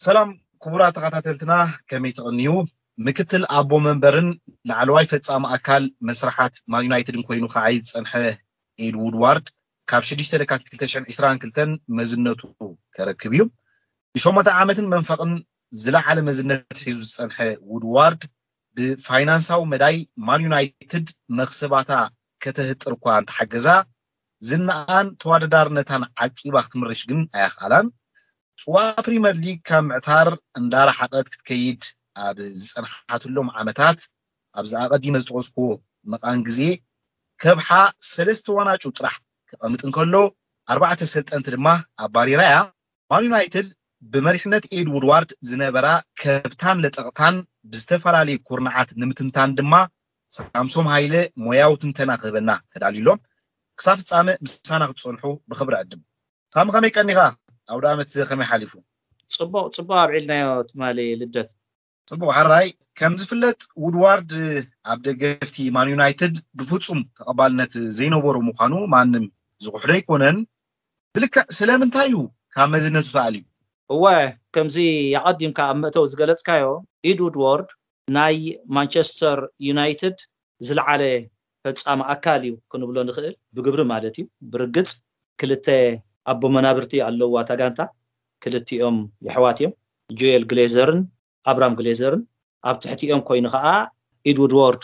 ሰላም ክቡራት ተኸታተልትና፣ ከመይ ትቕንዩ? ምክትል ኣቦ መንበርን ላዕለዋይ ፈጻሚ ኣካል መስርሓት ማን ዩናይትድን ኮይኑ ክዓይ ዝጸንሐ ኤድ ውድዋርድ፣ ካብ ሽዱሽተ ለካቲት ክልተ ሽሕን ዕስራን ክልተን መዝነቱ ከረክብ እዩ። ንሸሞንተ ዓመትን መንፈቕን ዝለዓለ መዝነት ሒዙ ዝጸንሐ ውድዋርድ፣ ብፋይናንሳዊ መዳይ ማን ዩናይትድ መኽሰባታ ከተህጥር እኳ እንተሓገዛ፣ ዝናኣን ተወዳዳርነታን ዓቂባ ክትምርሽ ግን ኣየኽኣላን። ጽዋ ፕሪመር ሊግ ካብ ምዕታር እንዳረሓቐት ክትከይድ ኣብ ዝጸንሓትሎም ዓመታት፣ ኣብዚ ኣቐዲመ ዝጠቐስኩዎ መቓን ግዜ፣ ከብሓ ሰለስተ ዋናጩ ጥራሕ ክቐምጥ እንከሎ፣ ኣርባዕተ ሰልጠንቲ ድማ ኣባሪራ እያ። ማን ዩናይትድ ብመሪሕነት ኤድ ውድዋርድ ዝነበራ ከብታን ለጠቕታን ብዝተፈላለዩ ኩርናዓት ንምትንታን ድማ ሳምሶም ሃይለ ሞያዊ ትንተና ክህበና ተዳልዩ ኣሎ። ክሳብ ፍጻመ ምሳና ክትጸንሑ ብኽብሪ ዕድም። ሳሚ፣ ከመይ ቀኒኻ? ኣውደ ዓመት ከመይ ሓሊፉ? ጽቡቕ ጽቡቕ ኣብዒልናዮ ትማሊ ልደት። ጽቡቕ ሓራይ። ከም ዝፍለጥ ውድዋርድ ኣብ ደገፍቲ ማን ዩናይትድ ብፍጹም ተቐባልነት ዘይነበሮ ምዃኑ ማንም ዝኽሕዶ ኣይኮነን። ብልክዕ ስለምንታይ እዩ ካብ መዝነቱ ተኣልዩ? እወ፣ ከምዚ ኣቐዲምካ ኣብ መእተዊ ዝገለጽካዮ፣ ኢድ ውድዋርድ ናይ ማንቸስተር ዩናይትድ ዝለዓለ ፈጻሚ ኣካል እዩ ክንብሎ ንኽእል፣ ብግብሪ ማለት እዩ። ብርግጽ ክልተ ኣቦ መናብርቲ ኣለዋ እታ ጋንታ፣ ክልቲኦም የሕዋት እዮም፣ ጆኤል ግሌዘርን ኣብራም ግሌዘርን። ኣብ ትሕቲኦም ኮይኑ ከዓ ኢድ ውድዋርድ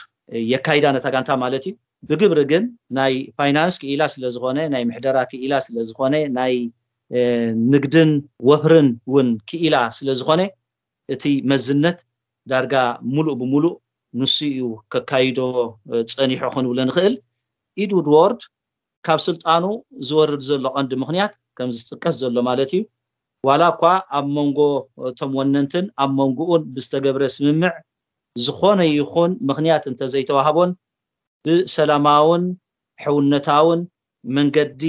የካይዳ ነታ ጋንታ ማለት እዩ። ብግብሪ ግን ናይ ፋይናንስ ክኢላ ስለ ዝኾነ፣ ናይ ምሕደራ ክኢላ ስለ ዝኾነ፣ ናይ ንግድን ወፍርን እውን ክኢላ ስለ ዝኾነ፣ እቲ መዝነት ዳርጋ ሙሉእ ብሙሉእ ንሱ እዩ ከካይዶ ጸኒሑ ክንብሎ ንኽእል። ኢድ ውድዋርድ ካብ ስልጣኑ ዝወርድ ዘሎ ቀንዲ ምኽንያት ከምዚ ዝጥቀስ ዘሎ ማለት እዩ፣ ዋላ እኳ ኣብ መንጎ እቶም ወነንትን ኣብ መንጎኡን ብዝተገብረ ስምምዕ ዝኾነ ይኹን ምኽንያት እንተዘይተዋህቦን ብሰላማውን ሕውነታውን መንገዲ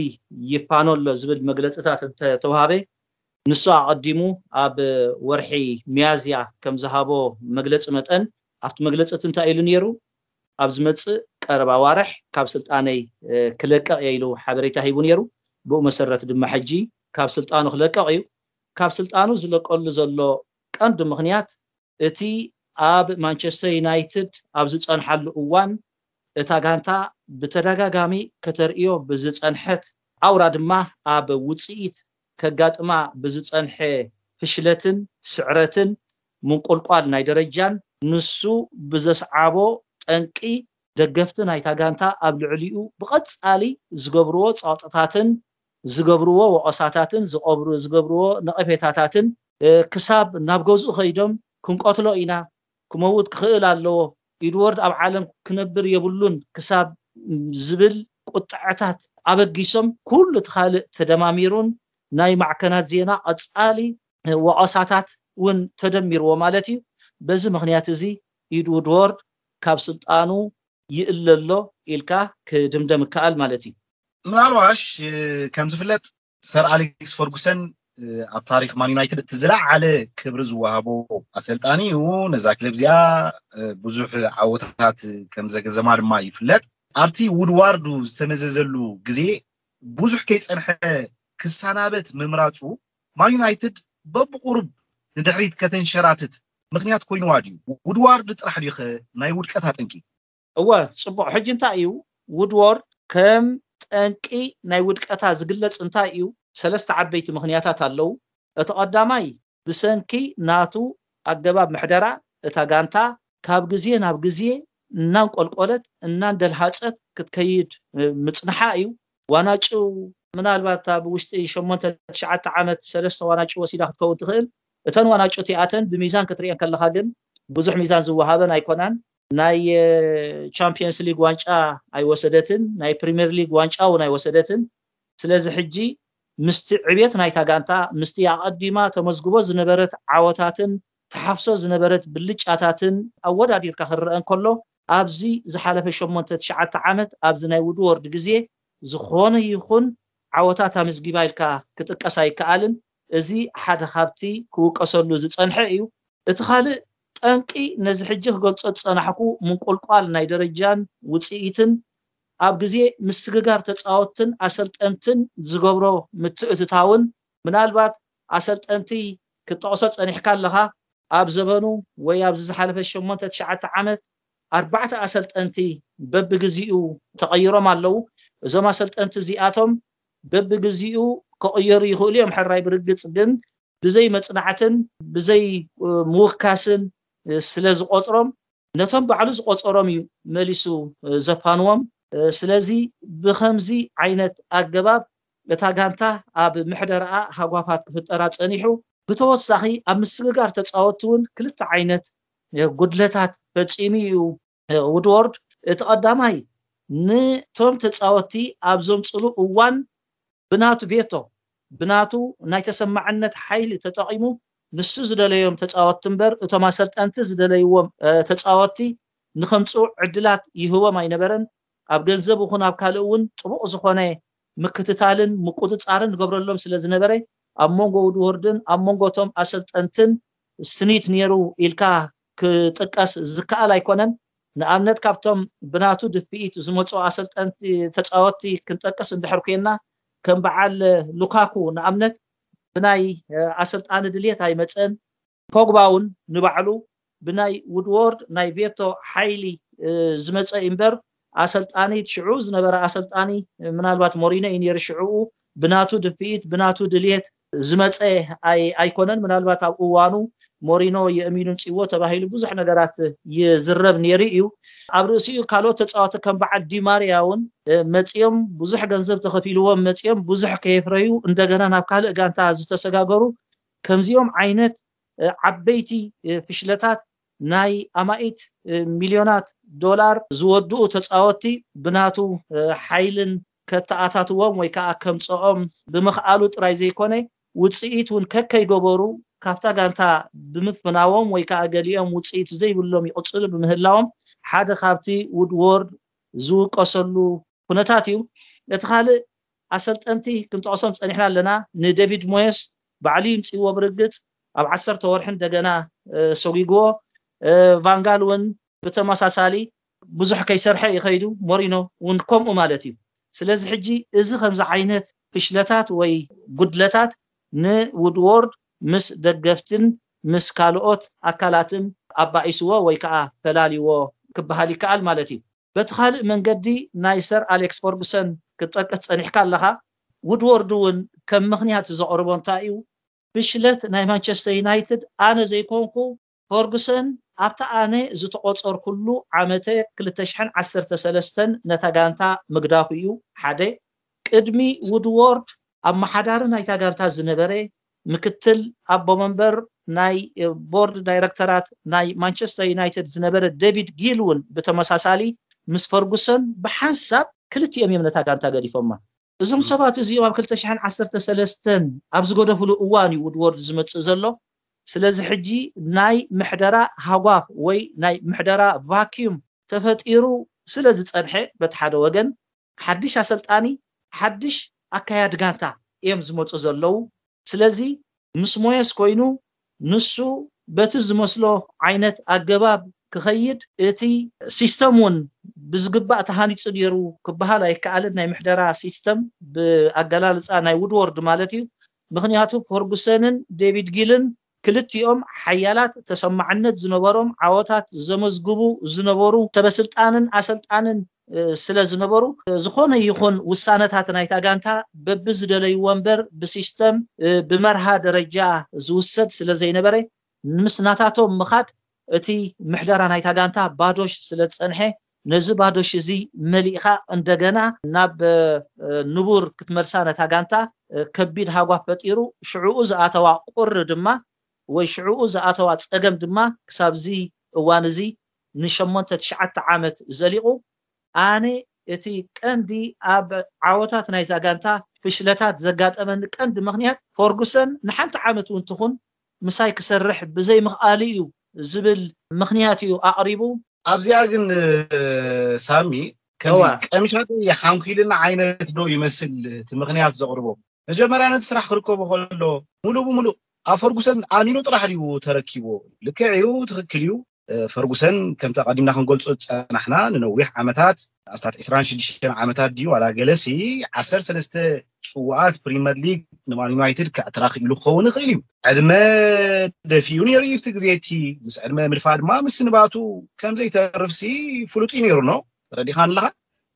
ይፋኖ ኣሎ ዝብል መግለፅታት እንተተዋሃበ፣ ንሱ ኣቐዲሙ ኣብ ወርሒ ሚያዝያ ከም ዝሃቦ መግለፂ መጠን፣ ኣብቲ መግለፂ እቲ እንታይ ኢሉ ነይሩ? ኣብ ዝመፅእ ቀረባ ዋርሕ ካብ ስልጣነይ ክለቀቕ እየ ኢሉ ሓበሬታ ሂቡ ነይሩ። ብኡ መሰረት ድማ ሕጂ ካብ ስልጣኑ ክለቀቕ እዩ። ካብ ስልጣኑ ዝለቀሉ ዘሎ ቀንዲ ምኽንያት፣ እቲ ኣብ ማንቸስተር ዩናይትድ ኣብ ዝጸንሓሉ እዋን እታ ጋንታ ብተደጋጋሚ ከተርእዮ ብዝጸንሐት፣ ኣውራ ድማ ኣብ ውጽኢት ከጋጥማ ብዝጸንሐ ፍሽለትን ስዕረትን ምንቁልቋል ናይ ደረጃን፣ ንሱ ብዘስዓቦ ጠንቂ ደገፍቲ ናይታ ጋንታ ኣብ ልዕሊኡ ብቐጻሊ ዝገብርዎ ጸቕጥታትን ዝገብርዎ ወቐሳታትን ዝቐብሩ ዝገብርዎ ነቐፌታታትን ክሳብ ናብ ገዝኡ ከይዶም ክንቀትሎ ኢና፣ ክመውት ክኽእል ኣለዎ፣ ኢድወርድ ኣብ ዓለም ክነብር የብሉን ክሳብ ዝብል ቁጥዐታት ኣበጊሶም፣ ኩሉ እቲ ካልእ ተደማሚሩን ናይ ማዕከናት ዜና ቀጻሊ ወቐሳታት እውን ተደሚርዎ ማለት እዩ። በዚ ምኽንያት እዚ ኢድውድወርድ ካብ ስልጣኑ ይእለ ኣሎ ኢልካ ክድምደም ይከኣል ማለት እዩ። ምናልባሽ ከም ዝፍለጥ ሰር ኣሌክስ ፈርጉሰን ኣብ ታሪክ ማን ዩናይትድ እቲ ዝለዓለ ክብሪ ዝወሃቦ ኣሰልጣኒ እዩ። ነዛ ክለብ እዚኣ ብዙሕ ዓወታት ከም ዘገዘማ ድማ ይፍለጥ። ኣብቲ ውድዋርዱ ዝተመዘዘሉ ግዜ ብዙሕ ከይጸንሐ ክሰናበት ምምራጹ ማን ዩናይትድ በብቁሩብ ንድሕሪት ከተንሸራትት ምኽንያት ኮይንዋ ድዩ? ውድዋርድ ጥራሕ ድዩኸ ናይ ውድቀታ ጠንቂ? እወ፣ ጽቡቕ። ሕጂ እንታይ እዩ ውድዋርድ ከም ጠንቂ ናይ ውድቀታ ዝግለጽ እንታይ እዩ? ሰለስተ ዓበይቲ ምኽንያታት ኣለዉ። እቲ ቀዳማይ ብሰንኪ ናቱ ኣገባብ ምሕደራ እታ ጋንታ ካብ ግዜ ናብ ግዜ እናንቆልቆለት እናንደልሃጸት ክትከይድ ምጽንሓ እዩ። ዋናጩ ምናልባት ኣብ ውሽጢ ሸሞንተ ትሽዓተ ዓመት ሰለስተ ዋናጩ ወሲዳ ክትከውን ትኽእል። እተን ዋናጩ እቲኣተን ብሚዛን ክትሪኤን ከለኻ ግን ብዙሕ ሚዛን ዝወሃበን ኣይኮናን። ናይ ቻምፒየንስ ሊግ ዋንጫ ኣይወሰደትን፣ ናይ ፕሪምየር ሊግ ዋንጫ እውን ኣይወሰደትን። ስለዚ ሕጂ ምስቲ ዕብየት ናይታ ጋንታ፣ ምስቲ ኣቐዲማ ተመዝግቦ ዝነበረት ዓወታትን ትሓፍሶ ዝነበረት ብልጫታትን ኣወዳዲርካ ክረአ እንከሎ፣ ኣብዚ ዝሓለፈ ሸሞንተ ትሽዓተ ዓመት ኣብዚ ናይ ውድወርድ ግዜ ዝኾነ ይኹን ዓወታት ኣመዝጊባ ኢልካ ክጥቀስ ኣይከኣልን። እዚ ሓደ ካብቲ ክውቀሰሉ ዝጸንሐ እዩ። እቲ ካልእ ጠንቂ ነዚ ሕጂ ክገልጾ ዝጸናሕኩ ምንቁልቋል ናይ ደረጃን ውጽኢትን ኣብ ግዜ ምስግጋር ተጻወትትን ኣሰልጠንትን ዝገብሮ ምትእትታውን ምናልባት ኣሰልጠንቲ ክትጠቕሶ ጸኒሕካ ኣለኻ። ኣብ ዘበኑ ወይ ኣብዚ ዝሓለፈ ሸሞንተ ትሽዓተ ዓመት ኣርባዕተ ኣሰልጠንቲ በብግዚኡ ተቐይሮም ኣለዉ። እዞም ኣሰልጠንቲ እዚኣቶም በብግዚኡ ክቕየሩ ይኽእሉ እዮም። ሕራይ ብርግጽ ግን ብዘይ መጽናዕትን ብዘይ ምውካስን ስለ ዝቆጽሮም፣ ነቶም ባዕሉ ዝቆጸሮም እዩ መሊሱ ዘፋንዎም። ስለዚ ብኸምዚ ዓይነት ኣገባብ እታ ጋንታ ኣብ ምሕደራኣ ሃጓፋት ክፍጠራ ጸኒሑ። ብተወሳኺ ኣብ ምስግጋር ተጻወትቲ እውን ክልተ ዓይነት ጉድለታት ፈጺሙ እዩ ውድዎርድ። እቲ ቀዳማይ፣ ንቶም ተጻወትቲ ኣብ ዘምጽሉ እዋን ብናቱ ቬቶ፣ ብናቱ ናይ ተሰማዕነት ሓይሊ ተጠቒሙ፣ ንሱ ዝደለዮም ተጻወትቲ እምበር እቶም ኣሰልጠንቲ ዝደለይዎም ተጻወትቲ ንኸምጽኡ ዕድላት ይህቦም ኣይነበረን። ኣብ ገንዘብ ይኹን ኣብ ካልእ እውን ጥቡቕ ዝኾነ ምክትታልን ምቁጽጻርን ይገብረሎም ስለ ዝነበረ፣ ኣብ መንጎ ውድወርድን ኣብ መንጎ እቶም ኣሰልጠንትን ስኒት ነይሩ ኢልካ ክጥቀስ ዝከኣል ኣይኮነን። ንኣብነት ካብቶም ብናቱ ድፍኢት ዝመፁ ኣሰልጠንቲ ተፃወትቲ ክንጠቅስ እንድሕር ኮይና፣ ከም በዓል ሉካኩ ንኣብነት ብናይ ኣሰልጣኒ ድልየት ኣይመፀን። ፖግባ እውን ንባዕሉ ብናይ ውድዎርድ ናይ ቬቶ ሓይሊ ዝመፀ እምበር ኣሰልጣኒ ሽዑ ዝነበረ ኣሰልጣኒ ምናልባት ሞሪኖ እዩ ነይሩ ሽዕኡ ብናቱ ድፍኢት ብናቱ ድልየት ዝመፀ ኣይኮነን። ምናልባት ኣብ እዋኑ ሞሪኖ የእሚኑን ፅዎ ተባሂሉ ብዙሕ ነገራት ይዝረብ ነይሩ እዩ። ኣብ ርእሲኡ ካልኦት ተፃወቲ ከም በዓል ዲማርያ እውን መፂኦም ብዙሕ ገንዘብ ተኸፊልዎም መፂኦም ብዙሕ ከየፍረዩ እንደገና ናብ ካልእ ጋንታ ዝተሰጋገሩ ከምዚኦም ዓይነት ዓበይቲ ፍሽለታት ናይ ኣማኢት ሚልዮናት ዶላር ዝወድኡ ተፃወቲ ብናቱ ሓይልን ከተኣታትዎም ወይ ከዓ ከምፀኦም ብምኽኣሉ ጥራይ ዘይኮነ ውፅኢት እውን ከከይገበሩ ካብታ ጋንታ ብምፍናዎም ወይ ከዓ ገሊኦም ውፅኢት ዘይብሎም ይቕፅሉ ብምህላዎም ሓደ ካብቲ ውድዎርድ ዝውቀሰሉ ኩነታት እዩ። እቲ ካልእ ኣሰልጠንቲ ክንጠቕሶም ፀኒሕና ኣለና። ንዴቪድ ሞየስ ባዕሉ ይምፅዎ ብርግፅ ኣብ ዓሰርተ ወርሒ እንደገና ሰጒግዎ። ቫንጋል እውን ብተመሳሳሊ ብዙሕ ከይሰርሐ ይኸይዱ። ሞሪኖ እውን ከምኡ ማለት እዩ። ስለዚ ሕጂ እዚ ከምዚ ዓይነት ፍሽለታት ወይ ጉድለታት ንውድዎርድ ምስ ደገፍትን ምስ ካልኦት ኣካላትን ኣባኢስዎ ወይ ከዓ ፈላልዎ ክበሃል ይከኣል ማለት እዩ። በቲ ካልእ መንገዲ ናይ ሰር ኣሌክስ ፈርጉሰን ክትጠቅስ ፀኒሕካ ኣለኻ። ውድወርድ እውን ከም ምኽንያት ዘቕርቦ እንታይ እዩ? ፍሽለት ናይ ማንቸስተር ዩናይትድ ኣነ ዘይኮንኩ ፈርጉሰን ኣብታ ኣነ ዝተቆፀርኩሉ ዓመተ ክልተ ሽሕን ዓሰርተ ሰለስተን ነታ ጋንታ ምግዳፉ እዩ። ሓደ ቅድሚ ውድዎርድ ኣመሓዳሪ ናይታ ጋንታ ዝነበረ ምክትል ኣቦ መንበር ናይ ቦርድ ዳይረክተራት ናይ ማንቸስተር ዩናይትድ ዝነበረ ዴቪድ ጊል እውን ብተመሳሳሊ ምስ ፈርጉሰን ብሓንሳብ ክልቲኦም እዮም ነታ ጋንታ ገዲፎማ። እዞም ሰባት እዚኦም ኣብ ክልተ ሽሕን ዓሰርተ ሰለስተን ኣብ ዝገደፍሉ እዋን እዩ ውድወርድ ዝመፅእ ዘሎ። ስለዚ ሕጂ ናይ ምሕደራ ሃጓፍ ወይ ናይ ምሕደራ ቫኪዩም ተፈጢሩ ስለ ዝፀንሐ በቲ ሓደ ወገን ሓድሽ ኣሰልጣኒ ሓድሽ ኣካያዲ ጋንታ እዮም ዝመፁ ዘለዉ። ስለዚ ምስ ሞየስ ኮይኑ ንሱ በቲ ዝመስሎ ዓይነት ኣገባብ ክኸይድ እቲ ሲስተም እውን ብዝግባእ ተሃኒፁ ነይሩ ክበሃል ኣይከኣልን። ናይ ምሕደራ ሲስተም ብኣገላልፃ ናይ ውድወርድ ማለት እዩ። ምክንያቱ ፈርጉሰንን ዴቪድ ጊልን ክልቲኦም ሓያላት ተሰማዕነት ዝነበሮም ዓወታት ዘመዝግቡ ዝነበሩ ሰበስልጣንን ኣሰልጣንን ስለ ዝነበሩ ዝኾነ ይኹን ውሳነታት ናይታ ጋንታ በብዝደለይዎ እምበር ብሲስተም ብመርሃ ደረጃ ዝውሰድ ስለ ዘይነበረ ምስ ናታቶም ምኻድ እቲ ምሕደራ ናይታ ጋንታ ባዶሽ ስለ ዝፀንሐ ነዚ ባዶሽ እዚ መሊእኻ እንደገና ናብ ንቡር ክትመልሳ ነታ ጋንታ ከቢድ ሃጓፍ ፈጢሩ ሽዕኡ ዝኣተዋ ቁሪ ድማ ወይ ሽዕኡ ዝኣተዋ ፀገም ድማ ክሳብዚ እዋን እዚ ንሸሞንተ ትሽዓተ ዓመት ዘሊቑ ኣነ እቲ ቀንዲ ኣብ ዓወታት ናይዛ ጋንታ ፍሽለታት ዘጋጠመኒ ቀንዲ ምኽንያት ፈርጉሰን ንሓንቲ ዓመት እውን ትኹን ምሳይ ክሰርሕ ብዘይምኽኣሉ እዩ ዝብል ምኽንያት እዩ ኣቕሪቡ። ኣብዚኣ ግን ሳሚ ከምዚ ቀምሻተይ ሓንኪልና ዓይነት ዶ ይመስል እቲ ምኽንያት ዘቕርቦ? መጀመርያ ነቲ ስራሕ ክርከቦ ከሎ ሙሉእ ብሙሉእ ኣብ ፈርጉሰን ኣሚኑ ጥራሕ ድዩ ተረኪቦ? ልክዕ እዩ፣ ትኽክል እዩ። ፈርጉሰን ከምቲ ኣቐዲምና ክንገልጾ ዝጸናሕና ንነዊሕ ዓመታት ኣስታት ዕስራን ሽዱሽተን ዓመታት ድዩ ዋላ ገለሲ ዓሰርተ ሰለስተ ጽዋኣት ፕሪመር ሊግ ንማን ዩናይትድ ከዕትራ ክኢሉ ክኸውን ይኽእል እዩ። ዕድመ ደፊኡ ነይሩ እዩ እቲ ግዜ እቲ ምስ ዕድመ ምድፋ ድማ ምስንባቱ ከም ዘይተርፍሲ ፍሉጥ እዩ ነይሩ ኖ ተረዲኻ ኣለኻ።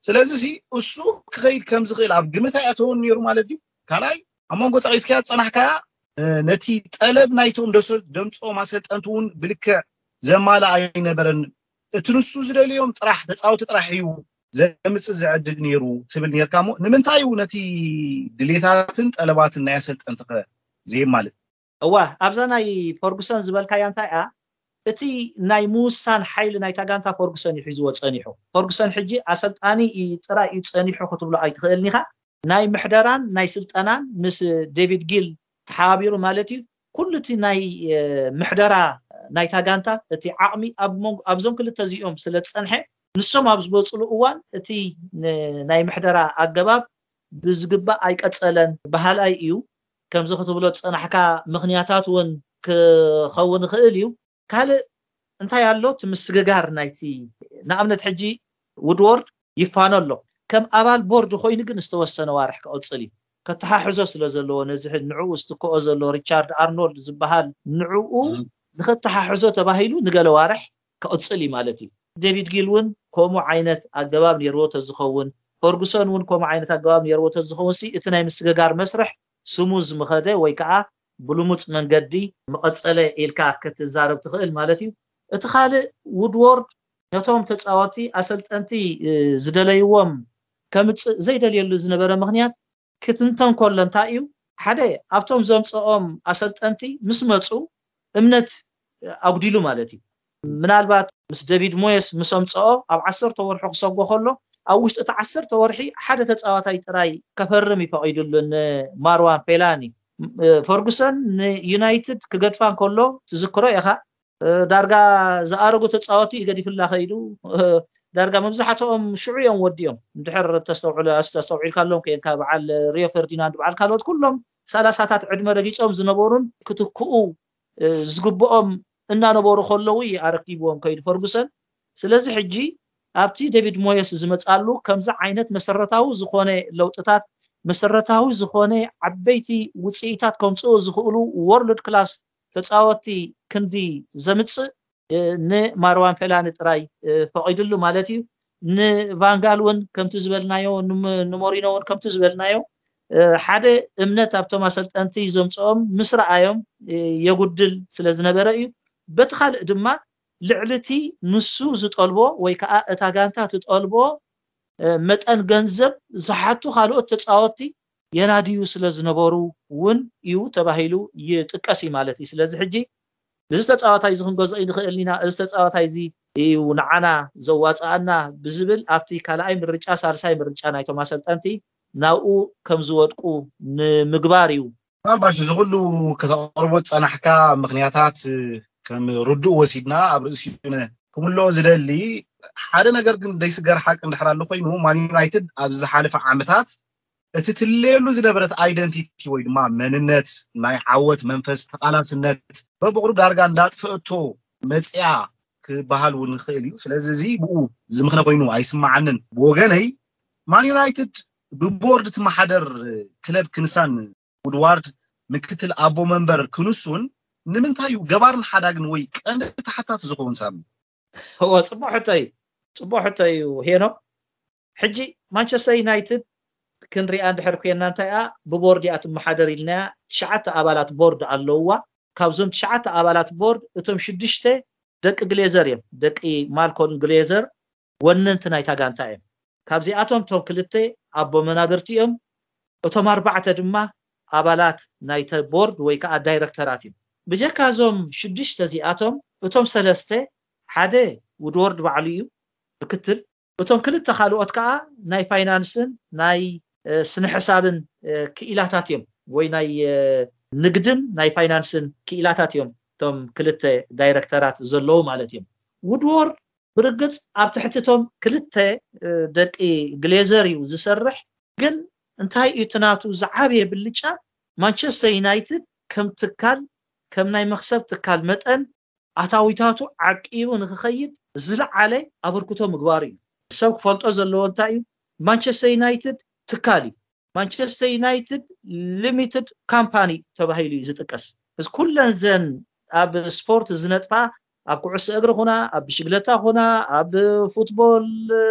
ስለዚ ሲ እሱ ክኸይድ ከም ዝኽእል ኣብ ግምት ኣይኣተወን ነይሩ ማለት እዩ። ካልኣይ ኣብ መንጎ ጠቒስካያ ዝጸናሕካያ ነቲ ጠለብ ናይቶም ደምፅኦም ኣሰልጠንቲ እውን ብልክዕ ዘማልእ ኣይነበረን። እቲ ንሱ ዝደልዮም ጥራሕ ተፃወቲ ጥራሕ እዩ ዘምፅእ ዝዕድግ ነይሩ ትብል ነርካ እሞ ንምንታይ እዩ ነቲ ድሌታትን ጠለባትን ናይ ኣሰልጠንቲ ከ ዘየማልእ? እዋ ኣብዛ ናይ ፈርጉሰን ዝበልካያ እንታይ እያ እቲ ናይ ምውሳን ሓይሊ ናይታ ጋንታ ፈርጉሰን እዩ ሒዝዎ ፀኒሑ። ፈርጉሰን ሕጂ ኣሰልጣኒ ጥራይ እዩ ፀኒሑ ክትብሎ ኣይትኽእልን ኢኻ። ናይ ምሕደራን ናይ ስልጠናን ምስ ዴቪድ ጊል ተሓባቢሩ ማለት እዩ። ኩሉ እቲ ናይ ምሕደራ ናይታ ጋንታ እቲ ዓቕሚ ኣብዞም ክልተ እዚኦም ስለ ዝፀንሐ ንሶም ኣብ ዝበፅሉ እዋን እቲ ናይ ምሕደራ ኣገባብ ብዝግባእ ኣይቀፀለን በሃላይ እዩ። ከምዚ ክትብሎ ዝፀናሕካ ምኽንያታት እውን ክኸውን ይኽእል እዩ። ካልእ እንታይ ኣሎ እቲ ምስግጋር ናይቲ ንኣብነት ሕጂ ውድዎርድ ይፋኖ ኣሎ። ከም ኣባል ቦርድ ኮይኑ ግን ዝተወሰነ ዋርሕ ክቕፅል እዩ። ከተሓሕዞ ስለ ዘለዎ ነዚ ንዕኡ ዝትክኦ ዘሎ ሪቻርድ ኣርኖልድ ዝበሃል ንዕኡ ንኸተሓሕዞ ተባሂሉ ንገለ ዋርሕ ክቕፅል እዩ ማለት እዩ። ዴቪድ ጊል እውን ከምኡ ዓይነት ኣገባብ ነይርዎ ተዝኸውን፣ ፈርጉሰን እውን ከምኡ ዓይነት ኣገባብ ነይርዎ ተዝኸውን ሲ እቲ ናይ ምስግጋር መስርሕ ስሙዝ ምኸደ ወይ ከዓ ብልሙፅ መንገዲ መቐፀለ ኢልካ ክትዛረብ ትኽእል ማለት እዩ። እቲ ካልእ ውድዎርድ ነቶም ተፃወቲ ኣሰልጠንቲ ዝደለይዎም ከምፅእ ዘይደልየሉ ዝነበረ ምክንያት ክትንተን ከሎ እንታይ እዩ ሓደ ኣብቶም ዘምፅኦም ኣሰልጠንቲ ምስ መፁ እምነት ኣጉዲሉ ማለት እዩ። ምናልባት ምስ ደቪድ ሞየስ ምስ ኣምፅኦ ኣብ ዓሰርተ ወርሑ ክሰጎ ከሎ ኣብ ውሽጢ እቲ ዓሰርተ ወርሒ ሓደ ተፃዋታይ ጥራይ ከፈርም ይፈቒድሉ ንማርዋን ፌላኒ። ፈርጉሰን ንዩናይትድ ክገድፋ እንከሎ ትዝክሮ ኢኻ ዳርጋ ዝኣረጉ ተፃወቲ ገዲፍላ ከይዱ ዳርጋ መብዛሕትኦም ሽዑ እዮም ወዲኦም እንድሕር ተስተውዕሉ ተስተውዒልካሎም ከየንካ በዓል ሪዮ ፈርዲናንድ በዓል ካልኦት ኩሎም ሰላሳታት ዕድመ ረጊፆም ዝነበሩን ክትክኡ ዝግብኦም እናነበሩ ከለዉ ኣረኪብዎም ከይዱ ፈርጉሰን። ስለዚ ሕጂ ኣብቲ ዴቪድ ሞየስ ዝመፃሉ ከምዚ ዓይነት መሰረታዊ ዝኾነ ለውጥታት መሰረታዊ ዝኾነ ዓበይቲ ውፅኢታት ከምፅኡ ዝኽእሉ ወርልድ ክላስ ተፃወቲ ክንዲ ዘምፅእ ንማርዋን ፌላኒ ጥራይ ፈቒድሉ ማለት እዩ። ንቫንጋል እውን ከምቲ ዝበልናዮ ንሞሪኖ እውን ከምቲ ዝበልናዮ ሓደ እምነት ኣብቶም ኣሰልጠንቲ ዘምፅኦም ምስ ረኣዮም የጉድል ስለ ዝነበረ እዩ። በቲ ካልእ ድማ ልዕሊ እቲ ንሱ ዝጠልቦ ወይ ከዓ እታ ጋንታ ትጠልቦ መጠን ገንዘብ ዝሓቱ ካልኦት ተፃወቲ የናድዩ ስለ ዝነበሩ እውን እዩ ተባሂሉ ይጥቀስ እዩ ማለት እዩ። ስለዚ ሕጂ እዚ ተፃዋታይ እዚ ክንገዝኦ ንኽእል ኢና፣ እዚ ተፃዋታይ እዚ እዩ ንዓና ዘዋፅኣና ብዝብል ኣብቲ ካልኣይ ምርጫ ሳልሳይ ምርጫ ናይቶም ኣሰልጠንቲ ናብኡ ከም ዝወድቁ ንምግባር እዩ። ምናልባሽ እዚ ኩሉ ከተቕርቦ ዝፀናሕካ ምኽንያታት ከም ርዱእ ወሲድና ኣብ ርእሲኡ ክምልኦ ዝደሊ ሓደ ነገር ግን ዘይስገር ሓቂ እንድሕር ኣሎ ኮይኑ ማን ዩናይትድ ኣብዚ ዝሓለፈ ዓመታት እቲ ትልለየሉ ዝነበረት ኣይደንቲቲ ወይ ድማ መንነት ናይ ዓወት መንፈስ ተቓላስነት በብቕሩ ዳርጋ እንዳጥፍእቶ መፅያ ክበሃል እውን ንኽእል እዩ። ስለዚ እዚ ብኡ ዝምኽነ ኮይኑ ኣይስማዓንን። ብወገነይ ማን ዩናይትድ ብቦርድ ትመሓደር ክለብ ክንሳን ውድዋርድ ምክትል ኣቦ መንበር ክንሱን ንምንታይ እዩ ገባርን ሓዳግን ወይ ቀንዲ ተሓታቲ ዝኸውን ሳሚ? እወ ፅቡቅ ሕቶ እዩ። ፅቡቅ ሕቶ እዩ ሄኖ። ሕጂ ማንቸስተር ዩናይትድ ክንሪኣ እንድሕር ኮይና እንታይ እያ ብቦርድ እያ ትመሓደር ኢልናያ። ትሽዓተ ኣባላት ቦርድ ኣለውዋ። ካብዞም ትሽዓተ ኣባላት ቦርድ እቶም ሽዱሽተ ደቂ ግሌዘር እዮም። ደቂ ማልኮን ግሌዘር ወነንቲ ናይታ ጋንታ እዮም። ካብዚኣቶም እቶም ክልተ ኣቦ መናብርቲ እዮም። እቶም ኣርባዕተ ድማ ኣባላት ናይተ ቦርድ ወይ ከዓ ዳይረክተራት እዮም። ብጀካ እዞም ሽዱሽተ እዚኣቶም እቶም ሰለስተ ሓደ ውድወርድ ባዕሉ እዩ ምክትል። እቶም ክልተ ካልኦት ከዓ ናይ ፋይናንስን ናይ ስነ ሕሳብን ክኢላታት እዮም ወይ ናይ ንግድን ናይ ፋይናንስን ክኢላታት እዮም እቶም ክልተ ዳይረክተራት ዘለዉ ማለት እዮም። ውድወርድ ብርግፅ ኣብ ትሕቲ እቶም ክልተ ደቂ ግሌዘር እዩ ዝሰርሕ። ግን እንታይ እዩ እቲ ናቱ ዝዓበየ ብልጫ? ማንቸስተር ዩናይትድ ከም ትካል ከም ናይ መክሰብ ትካል መጠን ኣታዊታቱ ዓቂቡ ንክኸይድ ዝለዓለ ኣበርክቶ ምግባሩ እዩ። ሰብ ክፈልጦ ዘለዎ እንታይ እዩ? ማንቸስተር ዩናይትድ ትካል እዩ። ማንቸስተር ዩናይትድ ሊሚትድ ካምፓኒ ተባሂሉ እዩ ዝጥቀስ። እዚ ኩለን ዘን ኣብ ስፖርት ዝነጥፋ፣ ኣብ ኩዕሶ እግሪ ኹና፣ ኣብ ብሽግለታ ኹና፣ ኣብ ፉትቦል፣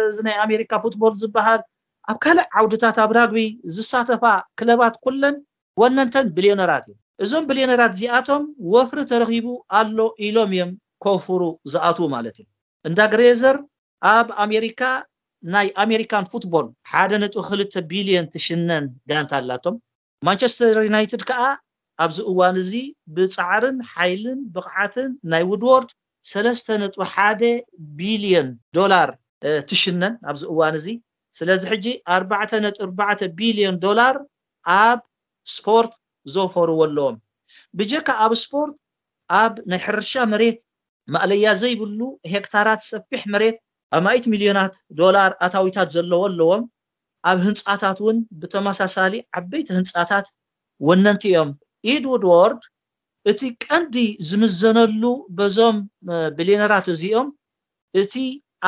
እዚ ናይ ኣሜሪካ ፉትቦል ዝበሃል፣ ኣብ ካልእ ዓውድታት ኣብ ራግቢ ዝሳተፋ ክለባት ኩለን ወነንተን ቢልዮነራት እዮም። እዞም ቢልዮነራት እዚኣቶም ወፍሪ ተረኺቡ ኣሎ ኢሎም እዮም ከውፍሩ ዝኣትዉ ማለት እዩ። እንዳ ግሬዘር ኣብ ኣሜሪካ ናይ ኣሜሪካን ፉትቦል ሓደ ነጥቢ ክልተ ቢልዮን ትሽነን ጋንታ ኣላቶም። ማንቸስተር ዩናይትድ ከዓ ኣብዚ እዋን እዚ ብፃዕርን ሓይልን ብቕዓትን ናይ ውድዎርድ ሰለስተ ነጥቢ ሓደ ቢልዮን ዶላር ትሽነን ኣብዚ እዋን እዚ። ስለዚ ሕጂ ኣርባዕተ ነጥቢ ኣርባዕተ ቢልዮን ዶላር ኣብ ስፖርት ዘውፈርዎ ኣለዎም። ብጀካ ኣብ ስፖርት ኣብ ናይ ሕርሻ መሬት ማእለያ ዘይብሉ ሄክታራት ሰፊሕ መሬት ኣማኢት ሚልዮናት ዶላር ኣታዊታት ዘለዎ ኣለዎም። ኣብ ህንፃታት እውን ብተመሳሳሊ ዓበይቲ ህንፃታት ወነንቲ እዮም። ኢድ ውድዎርድ እቲ ቀንዲ ዝምዘነሉ በዞም ቢልዮነራት እዚኦም እቲ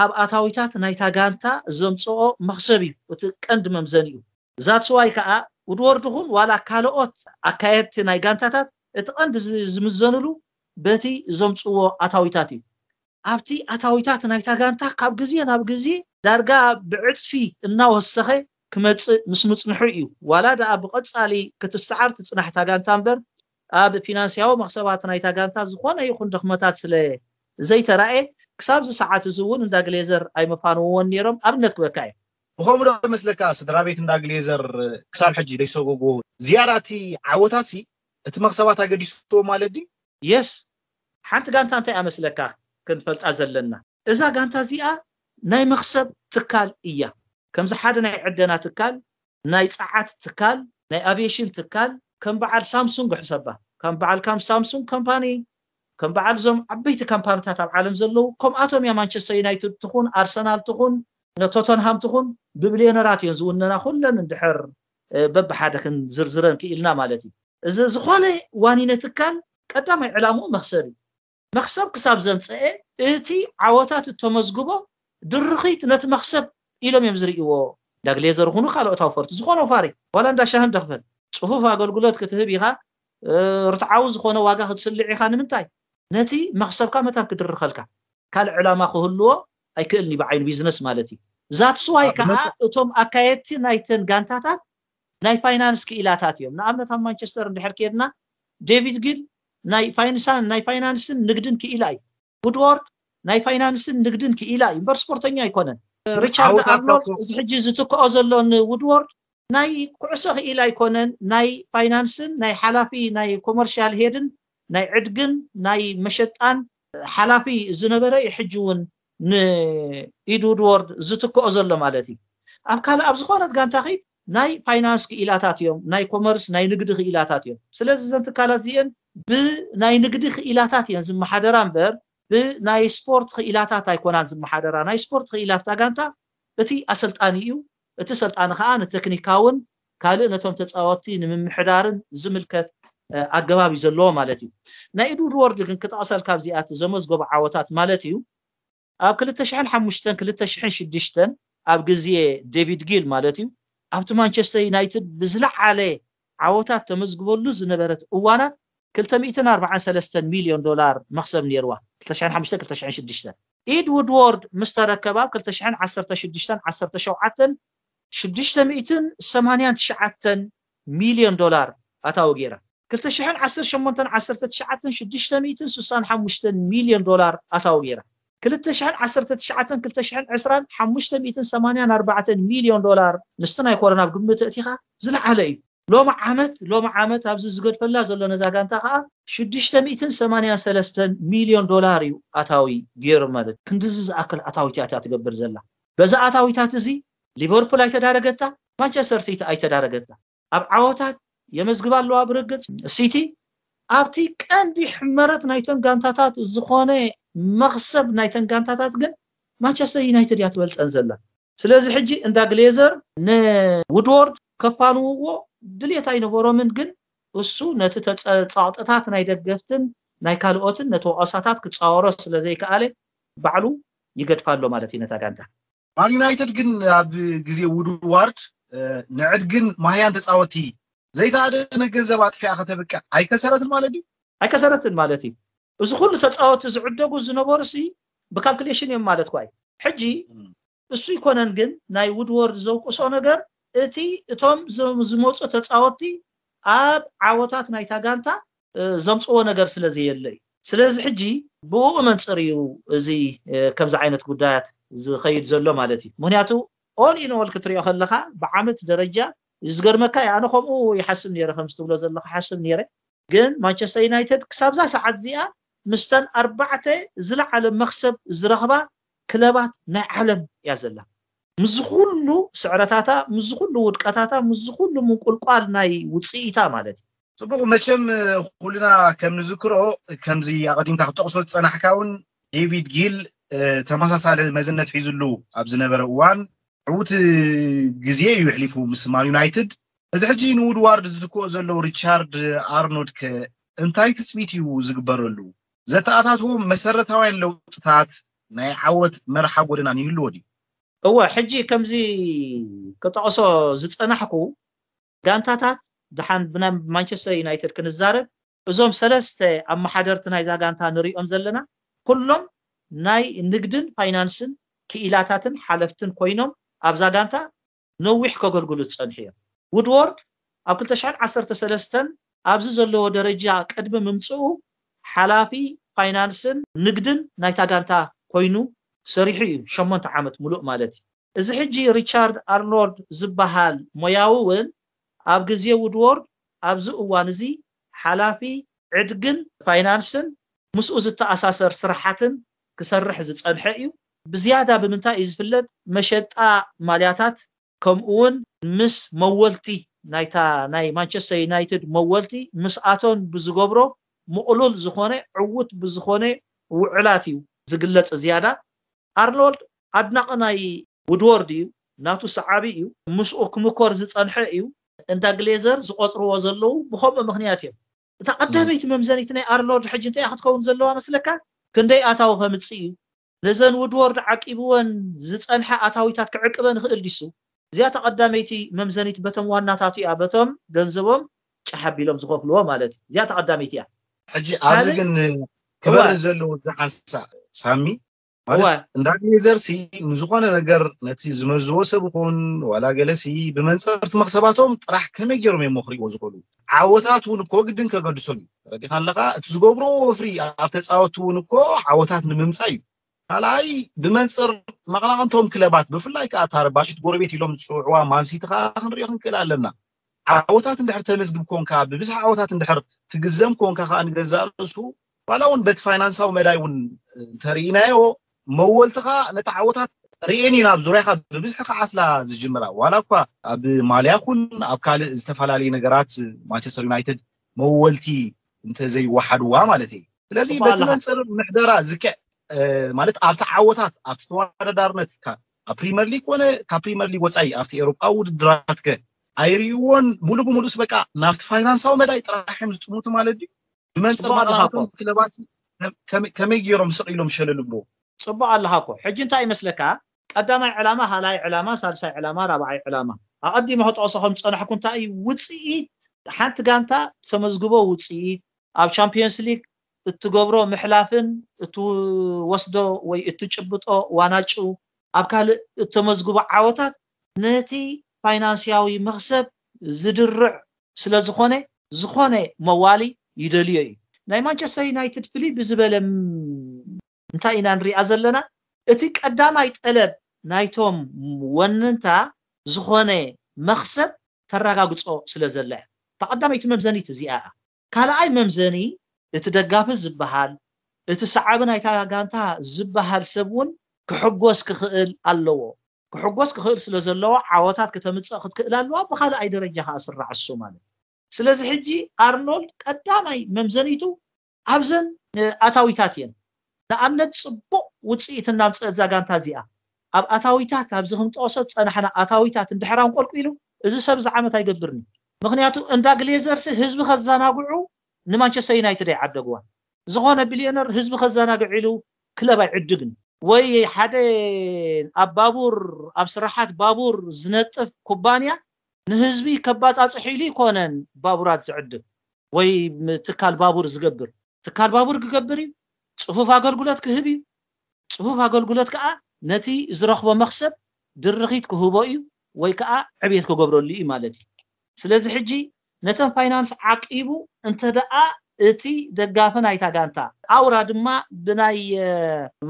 ኣብ ኣታዊታት ናይታ ጋንታ ዘምፅኦ መኽሰብ እዩ እቲ ቀንዲ መምዘኒኡ። ዛትስዋይ ከዓ ውድወርድ ኹን ዋላ ካልኦት ኣካየድቲ ናይ ጋንታታት እቲ ቀንዲ ዝምዘንሉ በቲ ዘምፅዎ ኣታዊታት እዩ። ኣብቲ ኣታዊታት ናይታ ጋንታ ካብ ግዜ ናብ ግዜ ዳርጋ ብዕፅፊ እናወሰኸ ክመፅእ ምስ ምፅንሑ እዩ። ዋላ ደኣ ብቐፃሊ ክትሰዓር ትፅናሕታ ጋንታ እምበር ኣብ ፊናንስያዊ መኽሰባት ናይታ ጋንታ ዝኾነ ይኹን ድኽመታት ስለ ዘይተራእየ ክሳብ እዚ ሰዓት እዚ እውን እንዳ ግሌዘር ኣይመፋንዎን ነይሮም። ኣብነት ክበካ እዩ። ብኸምኡ ዶ መስለካ ስድራ ቤት እንዳ ግሌዘር ክሳብ ሕጂ ደይሰጎጎ ዝያዳ እቲ ዓወታት ሲ እቲ መኽሰባት ኣገዲስዎ ማለት ድዩ? የስ ሓንቲ ጋንታ እንታይ ኣመስለካ ክንፈልጣ ዘለና እዛ ጋንታ እዚኣ ናይ መኽሰብ ትካል እያ። ከምዚ ሓደ ናይ ዕደና ትካል ናይ ጸዓት ትካል ናይ ኣቪዬሽን ትካል ከም በዓል ሳምሱንግ ሕሰባ ከም በዓል ካም ሳምሱንግ ካምፓኒ ከም በዓል ዞም ዓበይቲ ካምፓኒታት ኣብ ዓለም ዘለዉ ከምኣቶም እያ ማንቸስተር ዩናይትድ ትኹን ኣርሰናል ትኹን ቶተንሃም ትኹን ብብልዮነራት እየን ዝውነና ኩለን እንድሕር በብሓደ ክንዝርዝረን ክኢልና ማለት እዩ። እዚ ዝኾነ ዋኒነ ትካል ቀዳማይ ዕላምኡ መኽሰብ እዩ። መኽሰብ ክሳብ ዘምፀኤ እቲ ዓወታት እተመዝግቦ ድርኺት ነቲ መኽሰብ ኢሎም እዮም ዝርእይዎ። ዳግሌዘር ኹኑ ካልኦት ኣውፈርቲ ዝኾነ ወፋሪ ዋላ እንዳ ሻህን ደኽፈት ፅፉፍ ኣገልግሎት ክትህብ ኢኻ ርትዓዊ ዝኾነ ዋጋ ክትስልዕ ኢኻ ንምንታይ ነቲ መኽሰብካ መታን ክድርኸልካ ካልእ ዕላማ ክህልዎ ኣይክእልን እዩ ብዓይኒ ቢዝነስ ማለት እዩ። ዛትስዋይ ከዓ እቶም ኣካየድቲ ናይተን ጋንታታት ናይ ፋይናንስ ክኢላታት እዮም። ንኣብነት ኣብ ማንቸስተር እንድሕር ከድና ዴቪድ ጊል ናይ ፋይንሳን ናይ ፋይናንስን ንግድን ክኢላ እዩ። ውድዎርድ ናይ ፋይናንስን ንግድን ክኢላ እዩ እምበር ስፖርተኛ ኣይኮነን። ሪቻርድ ኣርኖልድ እዚ ሕጂ ዝትክኦ ዘሎ ንውድዎርድ ናይ ኩዕሶ ክኢላ ኣይኮነን፣ ናይ ፋይናንስን ናይ ሓላፊ ናይ ኮመርሻል ሄድን ናይ ዕድግን ናይ መሸጣን ሓላፊ ዝነበረ እዩ ሕጂ እውን ንኢድ ውድዎርድ ዝትክኦ ዘሎ ማለት እዩ። ኣብ ካልእ ኣብ ዝኾነት ጋንታ ኸይድ ናይ ፋይናንስ ክኢላታት እዮም፣ ናይ ኮመርስ ናይ ንግዲ ክኢላታት እዮም። ስለዚ እዘን ትካላት እዚአን ብናይ ንግዲ ክኢላታት እየን ዝመሓደራ እምበር ብናይ ስፖርት ክኢላታት ኣይኮናን ዝመሓደራ። ናይ ስፖርት ክኢላት እታ ጋንታ እቲ ኣሰልጣኒ እዩ። እቲ ሰልጣኒ ከዓ ንቴክኒካውን ካልእ ነቶም ተፃወትቲ ንምምሕዳርን ዝምልከት ኣገባብ እዩ ዘለዎ ማለት እዩ። ናይ ኢድ ውድዎርድ ግን ክጠቕሰልካ ኣብዚኣት ዘመዝገቡ ዓወታት ማለት እዩ ኣብ ክልተ ሽሕን ሓሙሽተን ክልተ ሽሕን ሽዱሽተን ኣብ ግዜ ዴቪድ ጊል ማለት እዩ ኣብቲ ማንቸስተር ዩናይትድ ብዝለዓለ ዓወታት ተመዝግበሉ ዝነበረት እዋናት ክልተ ሚእትን ኣርባዓን ሰለስተን ሚልዮን ዶላር መኽሰብ ነይርዋ ክልተ ሽሕን ሓሙሽተን ክልተ ሽሕን ሽዱሽተን ኢድ ውድዎርድ ምስ ተረከባ ኣብ ክልተ ሽሕን ዓሰርተ ሽዱሽተን ዓሰርተ ሸውዓተን ሽዱሽተ ሚእትን ሰማንያን ትሽዓተን ሚልዮን ዶላር ኣታዊ ገይራ ክልተ ሽሕን ዓሰርተ ሸሞንተን ዓሰርተ ትሽዓተን ሽዱሽተ ሚእትን ስሳን ሓሙሽተን ሚልዮን ዶላር ኣታዊ ገይራ ክልተ ሽሕን ዓሰርተ ትሽዓተን ክልተ ሽሕን ዕስራን ሓሙሽተ ሚእትን ሰማንያን ኣርባዕተን ሚልዮን ዶላር ምስቲ ናይ ኮረና ኣብ ግምት ኣእቲኻ ዝለዓለ እዩ። ሎሚ ዓመት ሎሚ ዓመት ኣብዚ ዝገድፈላ ዘሎ ነዛ ጋንታ ከዓ ሽዱሽተ ሚእትን ሰማንያን ሰለስተን ሚልዮን ዶላር እዩ ኣታዊ ገይሩ ማለት ክንድዚ ዝኣክል ኣታዊት እያ ትገብር ዘላ። በዚ ኣታዊታት እዚ ሊቨርፑል ኣይተዳረገታ፣ ማንቸስተር ሲቲ ኣይተዳረገታ። ኣብ ዓወታት የመዝግባ ኣለዋ ብርግፅ ሲቲ ኣብቲ ቀንዲ ሕመረት ናይተን ጋንታታት ዝኾነ መኽሰብ ናይተን ጋንታታት ግን ማንቸስተር ዩናይትድ እያ ትበልፀን ዘላ። ስለዚ ሕጂ እንዳ ግሌዘር ንውድዎርድ ከፋንውዎ ድልየት ኣይነበሮምን፣ ግን እሱ ነቲ ተፀ- ፃቕጥታት ናይ ደገፍትን ናይ ካልኦትን ነቲ ወቐሳታት ክጻወሮ ስለ ዘይከኣለ ባዕሉ ይገድፋ ኣሎ ማለት እዩ ነታ ጋንታ። ማን ዩናይትድ ግን ኣብ ግዜ ውድዋርድ ንዕድግን ማህያን ተጻወቲ ዘይተኣደነ ገንዘብ ኣጥፊኣ ከተብቅዕ ኣይከሰረትን ማለት እዩ። ኣይከሰረትን ማለት እዩ። እዚ ኩሉ ተጻወቲ ዝዕደጉ ዝነበሩ ሲ ብካልኩሌሽን እዮም ማለት ኳይ። ሕጂ እሱ ይኮነን ግን ናይ ውድወርድ ዘውቅሶ ነገር እቲ እቶም ዝመፁ ተጻወቲ ኣብ ዓወታት ናይታ ጋንታ ዘምፅዎ ነገር ስለ ዘየለ እዩ። ስለዚ ሕጂ ብኡ መንፅር እዩ እዚ ከምዚ ዓይነት ጉዳያት ዝኸይድ ዘሎ ማለት እዩ። ምክንያቱ ኦል ኢን ኦል ክትሪኦ ከለካ ብዓመት ደረጃ ዝገርመካ እዩ። ኣነ ከምኡ ይሓስብ ነይረ፣ ከምዚ ትብሎ ዘለካ ሓስብ ነይረ። ግን ማንቸስተር ዩናይትድ ክሳብዛ ሰዓት እዚኣ ምስተን ኣርባዕተ ዝለዓለ መክሰብ ዝረኽባ ክለባት ናይ ዓለም እያ ዘላ። ምስዚ ኩሉ ስዕረታታ፣ ምስዚ ኩሉ ውድቀታታ፣ ምስዚ ኩሉ ምንቁልቋል ናይ ውፅኢታ ማለት እዩ። ጽቡቕ፣ መቸም ኩልና ከም ንዝክሮ፣ ከምዚ ኣቐዲምካ ክትጠቕሶ ዝጸናሕካ እውን ዴቪድ ጊል ተመሳሳሊ መዝነት ሒዝሉ ኣብ ዝነበረ እዋን ዕዉት ግዜ እዩ ኣሕሊፉ ምስ ማን ዩናይትድ። እዚ ሕጂ ንውድዋርድ ዝትክኦ ዘለዉ ሪቻርድ ኣርኖልድ ከ እንታይ ትጽቢት እዩ ዝግበረሉ? ዘተኣታትዎም መሰረታውያን ለውጥታት ናይ ዓወት መርሓ ጎደናን ይህልዎ ድዩ? እወ፣ ሕጂ ከምዚ ክጠቕሶ ዝጸናሕኩ ጋንታታት፣ ደሓን ብናይ ማንቸስተር ዩናይትድ ክንዛረብ፣ እዞም ሰለስተ ኣመሓደርቲ ናይዛ ጋንታ ንሪኦም ዘለና ኩሎም ናይ ንግድን ፋይናንስን ክኢላታትን ሓለፍትን ኮይኖም ኣብዛ ጋንታ ነዊሕ ከገልግሉ ዝጸንሑ እዮም። ውድዎርድ ኣብ ክልተ ሽሕን ዓሰርተ ሰለስተን ኣብዚ ዘለዎ ደረጃ ቅድሚ ምምፅኡ ሓላፊ ፋይናንስን ንግድን ናይታ ጋንታ ኮይኑ ሰሪሑ እዩ ሸሞንተ ዓመት ሙሉእ ማለት እዩ። እዚ ሕጂ ሪቻርድ ኣርኖልድ ዝበሃል ሞያዊ እውን ኣብ ግዜ ውድዎርድ ኣብዚ እዋን እዚ ሓላፊ ዕድግን ፋይናንስን ምስኡ ዝተኣሳሰር ስራሓትን ክሰርሕ ዝጸንሐ እዩ። ብዝያዳ ብምንታይ እዩ ዝፍለጥ? መሸጣ ማልያታት ከምኡ እውን ምስ መወልቲ ናይታ ናይ ማንቸስተር ዩናይትድ መወልቲ ምስኣቶን ብዝገብሮ ምቕሉል ዝኾነ ዕዉት ብዝኾነ ውዕላት እዩ ዝግለጽ። ዝያዳ ኣርኖልድ ኣድናቒ ናይ ውድወርድ እዩ፣ ናቱ ሰዓቢ እዩ፣ ምስኡ ክምኮር ዝጸንሐ እዩ። እንዳ ግሌዘር ዝቆጽርዎ ዘለዉ ብኸምኡ ምኽንያት እዮም። እታ ቀዳመይቲ መምዘኒት ናይ ኣርኖልድ ሕጂ እንታይ ክትከውን ዘለዋ መስለካ? ክንደይ ኣታዊ ከምጽእ እዩ? ነዘን ውድወርድ ዓቂብወን ዝጸንሐ ኣታዊታት ክዕቅበን ይኽእል ዲሱ? እዚኣ እታ ቀዳመይቲ መምዘኒት በቶም ዋናታቱ እያ፣ በቶም ገንዘቦም ጫሕ ኣቢሎም ዝኸፍልዎ ማለት እዩ። እዚኣ እታ ቀዳመይቲ እያ። ሕጂ ኣብዚ ካልእ ግን ክበርህ እወ። ዘለዎ እዚ ሓንሳእ ሳሚ ማለት እወ። እንዳ ግሌዘር ሲ ንዝኾነ ነገር ነቲ ዝመዝዎ ሰብ ይኹን ዋላ ገለ ሲ ብመንፅር እቲ መኽሰባቶም ጥራሕ ከመይ ገይሮም እዮም ክሪእዎ ዝኽእሉ? ዓወታት እውን እኮ ግድን ከገድሶም እዩ። ተረዲኻ ኣለኻ? እቲ ዝገብርዎ ወፍሪ ኣብ ተፃወትቲ እውን እኮ ዓወታት ንምምፃእ እዩ። ካልኣይ ብመንፅር መቐናቕንቶም ክለባት ብፍላይ ከዓ እታ ረባሽት ጎረቤት ኢሎም ዝፅውዕዋ ማንሲቲ ከዓ ክንሪኦ ክንክእል ኣለና። ዓወታት እንድሕር ተመዝግብ ኮንካ ብብዝሒ ዓወታት እንድሕር ትግዘም ኮንካ ከዓ ንገዛእ ርእሱ ዋላ እውን በቲ ፋይናንሳዊ መዳይ እውን እንተርኢናዮ መወልትኻ ነቲ ዓወታት ርኤን ኢና ኣብ ዙርያኻ ብብዝሒ ክዓስላ ዝጅምራ ዋላ እኳ ኣብ ማልያ ኩን ኣብ ካልእ ዝተፈላለዩ ነገራት ማንቸስተር ዩናይትድ መወልቲ እንተዘይወሓድዋ ማለት እዩ። ስለዚ ጽቡቅ በቲ ኣለኻ። መንጽር ምሕደራ ዝከ ማለት ኣብቲ ዓወታት ኣብቲ ተወዳዳርነት ካብ ፕሪመር ሊግ ኮነ ካብ ፕሪመር ሊግ ወፃኢ ኣብቲ ኤሮጳዊ ውድድራት ከ ኣይርእይዎን ሙሉ ብሙሉስ በቃ ናብቲ ፋይናንሳዊ መዳይ ጥራሕ እዮም ዝጥምቱ ማለት ድዩ? ብመንፅር ጽቡቅ ኣለኻ እኮ። መቐናቕንቶም ክለባት ከመይ- ከመይ ገይሮም ስቕ ኢሎም ሸለል ብሎ? ጽቡቅ ኣለኻ እኮ። ሕጂ እንታይ ይመስለካ? ቀዳማይ ዕላማ፣ ካልኣይ ዕላማ፣ ሳልሳይ ዕላማ፣ ራብዓይ ዕላማ። ኣቐዲመ ክጠቕሶ ከም ዝጸናሕኩ እንታይ እዩ ውጽኢት ሓንቲ ጋንታ ተመዝግቦ ውጽኢት ኣብ ቻምፒየንስ ሊግ እትገብሮ ምሕላፍን እትወስዶ ወይ እትጭብጦ ዋናጩ ኣብ ካልእ እተመዝግቦ ዓወታት ነቲ ፋይናንስያዊ መኽሰብ ዝድርዕ ስለ ዝኾነ ዝኾነ መዋሊ ይደልዮ እዩ። ናይ ማንቸስተር ዩናይትድ ፍልይ ብዝበለ እንታይ ኢና ንሪኣ ዘለና? እቲ ቀዳማይ ጠለብ ናይቶም ወነንታ ዝኾነ መኽሰብ ተረጋግጾ ስለ ዘላ እያ። እታ ቀዳመይቲ መምዘኒት እዚኣ እያ። ካልኣይ መምዘኒ እቲ ደጋፊ ዝበሃል እቲ ሰዓቢ ናይታ ጋንታ ዝበሃል ሰብ እውን ክሕጎስ ክኽእል ኣለዎ። ክሕጎስ ክኽእል ስለ ዘለዎ ዓወታት ከተምፅእ ክትክእል ኣለዋ። ብኻልኣይ ደረጃ ከዓ ስራዕ እሱ ማለት እዩ። ስለዚ ሕጂ ኣርኖልድ ቀዳማይ መምዘኒቱ ኣብዘን ኣታዊታት እየን። ንኣብነት ፅቡቕ ውፅኢት እናምፀእ እዛ ጋንታ እዚኣ ኣብ ኣታዊታት ኣብዚ ክንጠቕሶ ዝፀናሕና ኣታዊታት እንድሕር ኣንቆልቁሉ እዚ ሰብ እዚ ዓመት ኣይገብርን እዩ። ምክንያቱ እንዳ ግሌዘርስ ህዝቢ ከዘናግዑ ንማንቸስተር ዩናይትድ ኣይዓደግዋን። ዝኾነ ቢልዮነር ህዝቢ ከዘናግዕ ኢሉ ክለብ ኣይዕድግን። ወይ ሓደ ኣብ ባቡር፣ ኣብ ስራሓት ባቡር ዝነጥፍ ኩባንያ ንህዝቢ ከባጻጽሕ ኢሉ ይኮነን ባቡራት ዝዕድግ ወይ ትካል ባቡር ዝገብር። ትካል ባቡር ክገብር እዩ፣ ጽፉፍ ኣገልግሎት ክህብ እዩ። ጽፉፍ ኣገልግሎት ከዓ ነቲ ዝረኽቦ መኽሰብ ድርኺት ክህቦ እዩ ወይ ከዓ ዕብየት ክገብረሉ እዩ ማለት እዩ። ስለዚ ሕጂ ነተን ፋይናንስ ዓቂቡ እንተ ደኣ እቲ ደጋፊ ናይታ ጋንታ ኣውራ ድማ ብናይ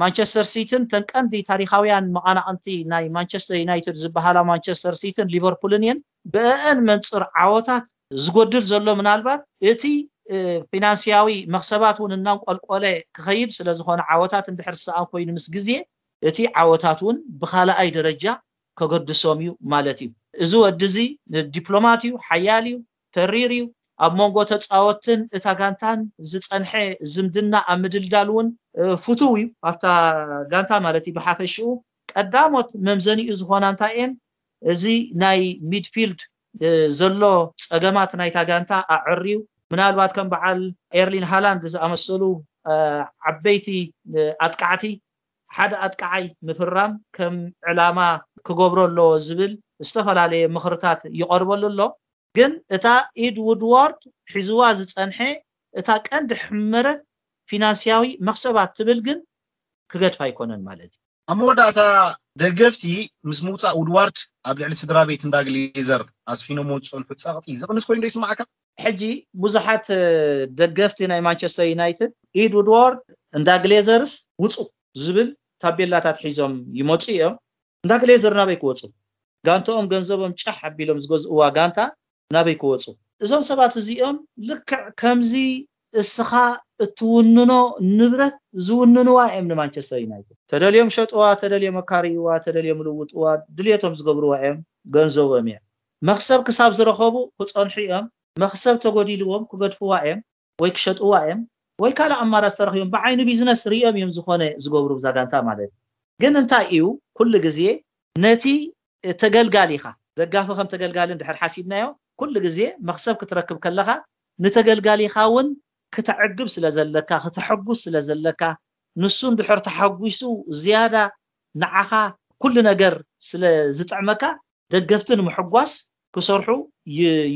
ማንቸስተር ሲቲን ተን ቀንዲ ታሪኻውያን መቓናቕንቲ ናይ ማንቸስተር ዩናይትድ ዝበሃላ ማንቸስተር ሲቲን ሊቨርፑልን እየን። ብእአን መንፅር ዓወታት ዝጎድል ዘሎ ምናልባት እቲ ፊናንስያዊ መኽሰባት እውን እናንቆልቆለ ክኸይድ ስለዝኾነ ዓወታት እንድሕር ዝሰኣን ኮይኑ ምስ ግዜ እቲ ዓወታት እውን ብካልኣይ ደረጃ ከገድሶም እዩ ማለት እዩ። እዚ ወዲ እዚ ዲፕሎማት እዩ፣ ሓያል እዩ፣ ተሪር እዩ። ኣብ መንጎ ተፃወትን እታ ጋንታን ዝፀንሐ ዝምድና ኣብ ምድልዳል እውን ፍቱው እዩ ኣብታ ጋንታ ማለት እዩ። ብሓፈሽኡ ቀዳሞት መምዘኒኡ ዝኾና እንታይ እየን? እዚ ናይ ሚድፊልድ ዘሎ ፀገማት ናይታ ጋንታ ኣዐርዩ ምናልባት ከም በዓል ኤርሊን ሃላንድ ዝኣመሰሉ ዓበይቲ ኣጥቃዕቲ ሓደ ኣጥቃዓይ ምፍራም ከም ዕላማ ክገብሮ ኣለዎ ዝብል ዝተፈላለየ ምኽርታት ይቐርበሉ ኣሎ። ግን እታ ኢድ ውድዋርድ ሒዝዋ ዝፀንሐ እታ ቀንዲ ሕመረት ፊናንስያዊ መኽሰባት ትብል ግን ክገድፍ ኣይኮነን ማለት እዩ። ኣብ መወዳእታ ደገፍቲ ምስ ምውፃእ ውድዋርድ ኣብ ልዕሊ ስድራ ቤት እንዳ ግሌዘር ኣስፊኖሞ ዝፀንሑ ፀቕጢ ዝቕንስ ኮይኑ ዶ ይስማዓካ? ሕጂ ብዙሓት ደገፍቲ ናይ ማንቸስተር ዩናይትድ ኢድ ውድዋርድ እንዳ ግሌዘርስ ውፁ ዝብል ታቤላታት ሒዞም ይመፁ እዮም። እንዳ ግሌዘር ናበይ ክወፁ? ጋንተኦም ገንዘቦም ጫሕ ኣቢሎም ዝገዝእዋ ጋንታ ናበይ ክወፁ? እዞም ሰባት እዚኦም ልክዕ ከምዚ እስኻ እትውንኖ ንብረት ዝውንንዋ እዮም ንማንቸስተር ዩናይትድ። ተደልዮም ሸጥዋ፣ ተደልዮም ኣካርይዋ፣ ተደልዮም ልውጥዋ፣ ድልየቶም ዝገብርዋ እዮም፣ ገንዘቦም እዮም። መኽሰብ ክሳብ ዝረኸቡ ክፀንሑ እዮም። መኽሰብ ተጎዲልዎም ክገድፍዋ እዮም ወይ ክሸጥዋ እዮም ወይ ካልእ ኣማራፂ ተረኺቦም ብዓይኒ ቢዝነስ ሪኦም እዮም ዝኾነ ዝገብሩ ብዛ ጋንታ ማለት እዩ። ግን እንታይ እዩ ኩሉ ግዜ ነቲ ተገልጋሊኻ ደጋፊ ከም ተገልጋሊ እንድሕር ሓሲብናዮ ኩሉ ግዜ መኽሰብ ክትረክብ ከለኻ ንተገልጋሊኻ እውን ክተዕግብ ስለ ዘለካ ክተሐጉስ ስለ ዘለካ ንሱ እንድሕር ተሓጒሱ ዝያዳ ንዓኻ ኩሉ ነገር ስለ ዝጥዕመካ ደገፍቲ ንምሕጓስ ክሰርሑ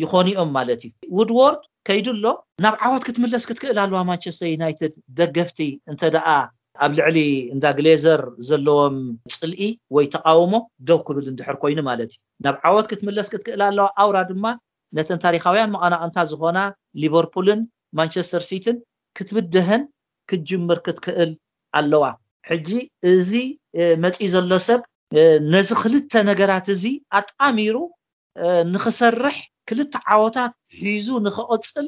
ይኾኑ እዮም ማለት እዩ። ውድዎርድ ከይዱ ኣሎ። ናብ ዓወት ክትምለስ ክትክእል ኣለዋ ማንቸስተር ዩናይትድ ደገፍቲ እንተ ደኣ ኣብ ልዕሊ እንዳ ግሌዘር ዘለዎም ፅልኢ ወይ ተቃውሞ ደው ክብል እንድሕር ኮይኑ ማለት እዩ። ናብ ዓወት ክትምለስ ክትክእል ኣለዋ። ኣውራ ድማ ነተን ታሪካውያን መቐናቕንታ ዝኾና ሊቨርፑልን ማንቸስተር ሲቲን ክትብደሀን ክትጅምር ክትክእል ኣለዋ። ሕጂ እዚ መፂ ዘሎ ሰብ ነዚ ክልተ ነገራት እዚ ኣጣሚሩ ንኽሰርሕ ክልተ ዓወታት ሒዙ ንኽቕፅል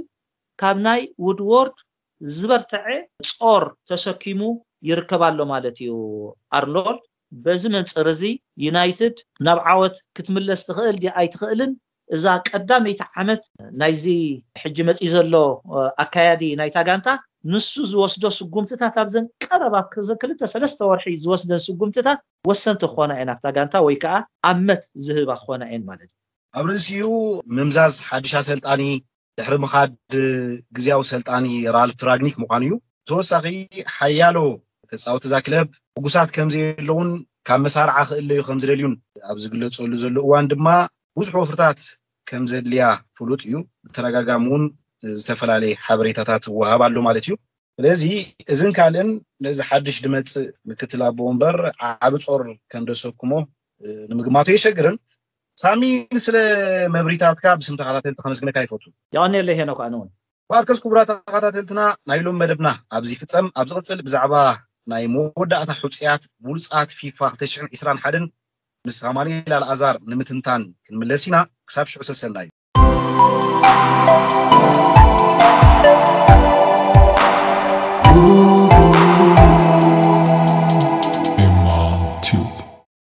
ካብ ናይ ውድዎርድ ዝበርተዐ ጾር ተሰኪሙ ይርከብ ኣሎ ማለት እዩ ኣርኖልድ። በዚ መንፅር እዚ ዩናይትድ ናብ ዓወት ክትምለስ ትኽእል ድያ ኣይትኽእልን እዛ ቀዳመይቲ ዓመት ናይዚ ሕጂ መፂ ዘሎ ኣካያዲ ናይታ ጋንታ ንሱ ዝወስዶ ስጉምትታት ኣብዘን ቀረባ ክልተ ሰለስተ ወርሒ ዝወስደን ስጉምትታት ወሰንቲ ክኾና እየን ኣብታ ጋንታ ወይ ከዓ ኣመት ዝህባ ክኾና እየን ማለት እዩ። ኣብ ርእሲኡ ምምዛዝ ሓድሽ ኣሰልጣኒ ድሕሪ ምኻድ ግዝያዊ ሰልጣኒ ራልፍ ራግኒክ ምዃኑ እዩ። ተወሳኺ ሓያሎ ተፃወቲ እዛ ክለብ ሕጉሳት ከም ዘየለውን ካብ መሳርዓ ክእለዩ ከም ዝደልዩን ኣብ ዝግለፀሉ ዘሎ እዋን ድማ ብዙሕ ወፍርታት ከም ዘድልያ ፍሉጥ እዩ። ብተደጋጋሚ እውን ዝተፈላለየ ሓበሬታታት ይወሃብ ኣሎ ማለት እዩ። ስለዚ እዝን ካልእን ነዚ ሓድሽ ድመፅእ ምክትል ኣቦ ወንበር ዓቢ ጾር ከም ደሰኩሞ ንምግማቱ የሸግርን። ሳሚ፣ ስለ መብሪታትካ ብስም ተኸታተልቲ ከመስግነካ ይፈቱ። የቐንየለይ ሄኖክ፣ ኣነ እውን። ማርከስ፣ ክቡራት ተኸታተልትና፣ ናይ ሎም መደብና ኣብዚ ፍጸም። ኣብ ዝቕጽል ብዛዕባ ናይ መወዳእታ ሕጹያት ብሉጻት ፊፋ ክልተ ሽሕን ዕስራን ሓደን ምስ ኣማኑኤል ኣልኣዛር ንምትንታን ክንምለስ ኢና። ክሳብ ሽዑ ሰሰናዩ።